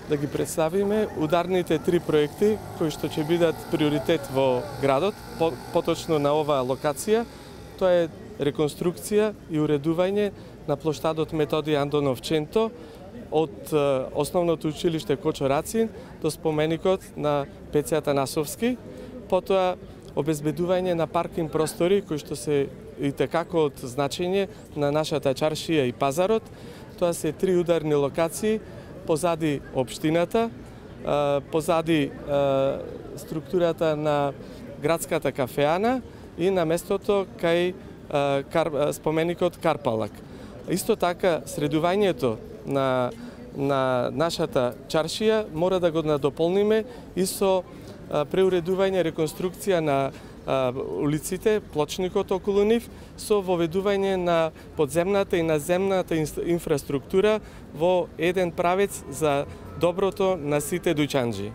да ги представиме ударните 3 проекти кои што ќе бидат приоритет во градот, поточно на оваа локација. Тоа е реконструкција и уредување на плоштадот Методи Андонов Ченто од основното училиште Кочо Рацин до споменикот на Пеци Атанасовски, потоа обезбедување на паркинг простори кои што се итекако од значење на нашата чаршија и пазарот. Тоа се 3 ударни локации позади општината, позади структурата на градската кафеана и на местото кај споменикот Карпалак. Исто така, средувањето на нашата чаршија мора да го надополниме и со преуредување, реконструкција на улиците, плочникот околу нив, со воведување на подземната и наземната инфраструктура во еден правец за доброто на сите дуќанџи.